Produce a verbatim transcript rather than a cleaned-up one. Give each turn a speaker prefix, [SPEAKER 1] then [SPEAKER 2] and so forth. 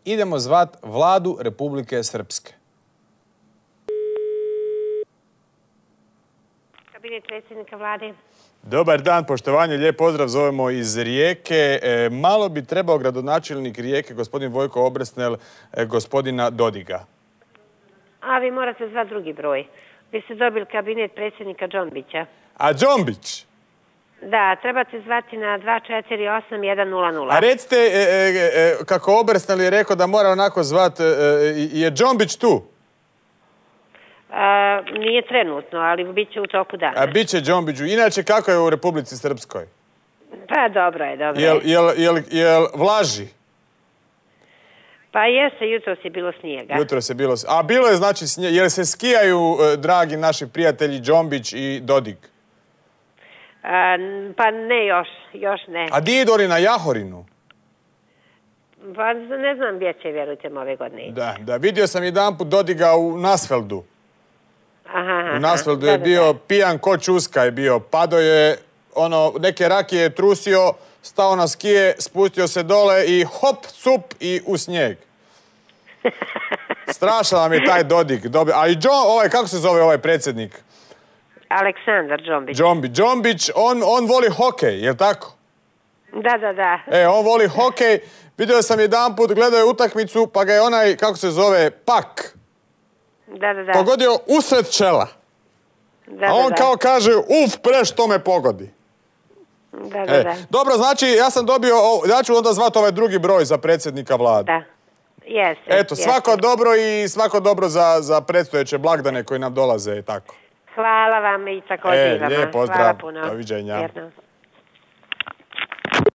[SPEAKER 1] idemo zvat vladu Republike Srpske.
[SPEAKER 2] Kabinet predsjednika vlade.
[SPEAKER 1] Dobar dan, poštovanje, lijep pozdrav, zovemo iz Rijeke. E, malo bi trebao gradonačelnik Rijeke, gospodin Vojko Obresnel, e, gospodina Dodiga.
[SPEAKER 2] A vi morate zvati drugi broj. Vi ste dobili kabinet predsjednika Džombića.
[SPEAKER 1] A Džombić?
[SPEAKER 2] Da, trebate zvati na dva četiri osam jedan nula nula.
[SPEAKER 1] A recite, e, e, e, kako Obresnel je rekao da mora onako zvat, e, je Džombić tu?
[SPEAKER 2] A, nije trenutno, ali bit će u toku dana.
[SPEAKER 1] A bit će Džombiću. Inače, kako je u Republici Srpskoj?
[SPEAKER 2] Pa dobro je, dobro je.
[SPEAKER 1] Jel, jel, jel, jel vlaži?
[SPEAKER 2] Pa jeste, jutros je bilo snijega.
[SPEAKER 1] Jutros je bilo... A bilo je znači snijeg. Jel se skijaju, dragi naši prijatelji, Džombić i Dodik?
[SPEAKER 2] A, pa ne još, još ne.
[SPEAKER 1] A di idu oni na Jahorinu?
[SPEAKER 2] Pa ne znam gdje će, vjerujte me, ove godine.
[SPEAKER 1] Da, da, vidio sam jedanput Dodiga u Nasfeldu.
[SPEAKER 2] Aha, aha.
[SPEAKER 1] U Nasfeldu
[SPEAKER 2] Da,
[SPEAKER 1] je
[SPEAKER 2] da,
[SPEAKER 1] bio
[SPEAKER 2] da.
[SPEAKER 1] pijan ko čuska je bio. Pado je, ono, neke rakije je trusio, stao na skije, spustio se dole i hop, cup i u snijeg. Strašan vam je taj Dodik. Dobi... A i Džo, ovaj, kako se zove ovaj predsjednik?
[SPEAKER 2] Aleksandar Džombić.
[SPEAKER 1] Džombić. Džombić, on, on voli hokej, jel tako?
[SPEAKER 2] Da, da, da.
[SPEAKER 1] E, on voli hokej. Vidio sam jedanput, gledao je utakmicu, pa ga je onaj, kako se zove, Pak,
[SPEAKER 2] Da, da, da.
[SPEAKER 1] pogodio usred čela.
[SPEAKER 2] Da,
[SPEAKER 1] A on
[SPEAKER 2] da,
[SPEAKER 1] kao kaže, uf, pre što me pogodi.
[SPEAKER 2] Da, da,
[SPEAKER 1] E,
[SPEAKER 2] da.
[SPEAKER 1] dobro, znači, ja sam dobio, ja ću onda zvati ovaj drugi broj za predsjednika vlade.
[SPEAKER 2] Da. Jeste.
[SPEAKER 1] Eto, svako
[SPEAKER 2] jeste.
[SPEAKER 1] dobro i svako dobro za, za predstojeće blagdane koji nam dolaze i tako.
[SPEAKER 2] Hvala vam i također
[SPEAKER 1] E,
[SPEAKER 2] i vama.
[SPEAKER 1] lijep pozdrav.
[SPEAKER 2] Hvala puno.
[SPEAKER 1] Doviđenja.
[SPEAKER 2] Vjerno.